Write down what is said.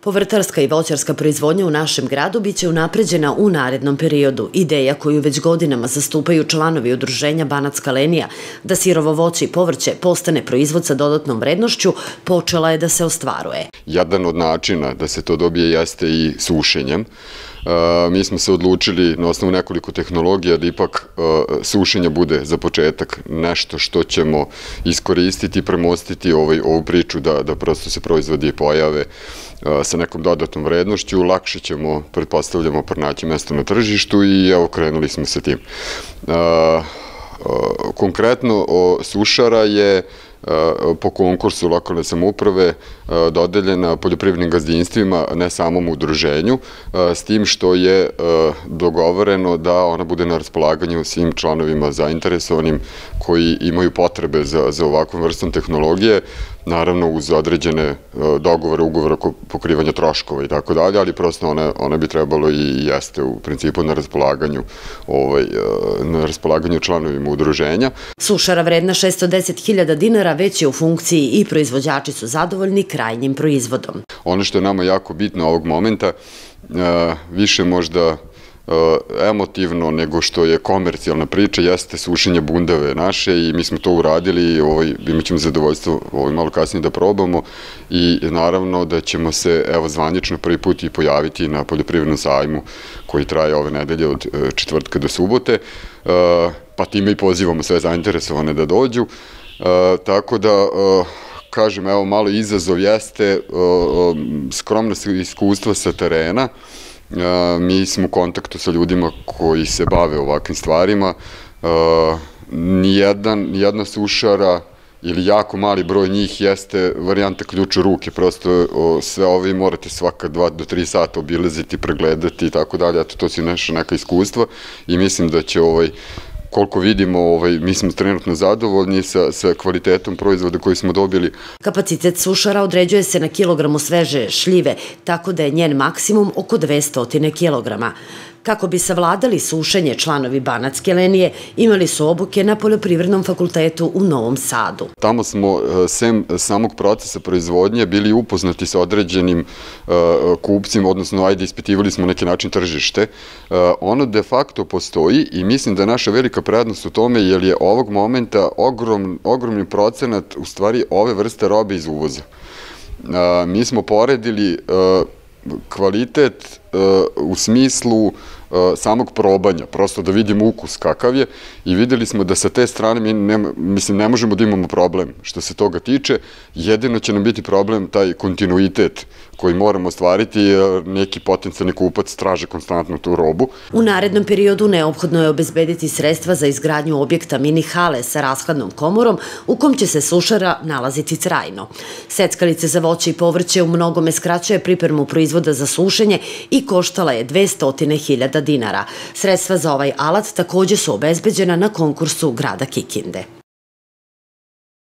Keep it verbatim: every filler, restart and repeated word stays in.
Povrtarska i voćarska proizvodnja u našem gradu biće unapređena u narednom periodu. Ideja koju već godinama zastupaju članovi udruženja Banatska linija da sirovo voće i povrće postane proizvod sa dodatnom vrednošću počela je da se ostvaruje. Jedan od načina da se to dobije jeste i sušenjem. Mi smo se odlučili na osnovu nekoliko tehnologija da ipak sušenje bude za početak nešto što ćemo iskoristiti i premostiti ovu priču da prosto se proizvodi pojave sa nekom dodatnom vrednošću. Lakše ćemo, pretpostavljamo, pronaći mesto na tržištu i evo krenuli smo sa tim. Konkretno sušara je po konkursu lokalne samouprave dodeljena poljoprivrednim gazdinstvima, ne samom udruženju, s tim što je dogovoreno da ona bude na raspolaganju svim članovima zainteresovanim koji imaju potrebe za ovakvom vrstom tehnologije, naravno uz određene dogovore, ugovore oko pokrivanja troškova i tako dalje, ali prosto ona bi trebalo i jeste u principu na raspolaganju na raspolaganju članovima udruženja. Sušara vredna šessto deset hiljada dinara već je u funkciji i proizvođači su zadovoljni krajnjim proizvodom. Ono što je nama jako bitno ovog momenta, više možda emotivno nego što je komercijalna priča, jeste sušenje bundeve naše i mi smo to uradili i imat ćemo zadovoljstvo malo kasnije da probamo i naravno da ćemo se evo zvanično prvi put i pojaviti na poljoprivrednom sajmu koji traje ove nedelje od četvrtka do subote, pa time i pozivamo sve zainteresovane da dođu, tako da kažem, evo malo izazov jeste skromna iskustva sa terena. Mi smo u kontaktu sa ljudima koji se bave ovakvim stvarima. Nijedna sušara ili jako mali broj njih jeste varijanta ključ u ruke. Prosto sve ove morate svaka dva do tri sata obilaziti, pregledati i tako dalje. To su neka iskustva i mislim da će ovaj koliko vidimo, mi smo trenutno zadovoljni sa kvalitetom proizvoda koji smo dobili. Kapacitet sušara određuje se na kilogramu sveže šljive, tako da je njen maksimum oko dvesta kilograma. Kako bi savladali sušenje, članovi Banatske linije imali su obuke na Poljoprivrednom fakultetu u Novom Sadu. Tamo smo, sem samog procesa proizvodnje, bili upoznati sa određenim kupcima, odnosno, ajde, ispitivali smo neki način tržište. Ono de facto postoji i mislim da je naša velika prednost u tome, jer je ovog momenta ogromni procenat, u stvari, ove vrste robe iz uvoza. Mi smo poredili kvalitet u smislu samog probanja, prosto da vidimo ukus kakav je i videli smo da sa te strane, mislim, ne možemo da imamo problem što se toga tiče, jedino će nam biti problem taj kontinuitet koji moramo ostvariti, jer neki potencijalni kupac traže konstantno tu robu. U narednom periodu neophodno je obezbediti sredstva za izgradnju objekta mini hale sa rashladnom komorom u kom će se sušara nalaziti trajno. Seckalice za voće i povrće u mnogome skraćuje pripremu proizvoda za sušenje i koštala je dvesta hiljada dinara. Sredstva za ovaj alat takođe su obezbeđena na konkursu grada Kikinde.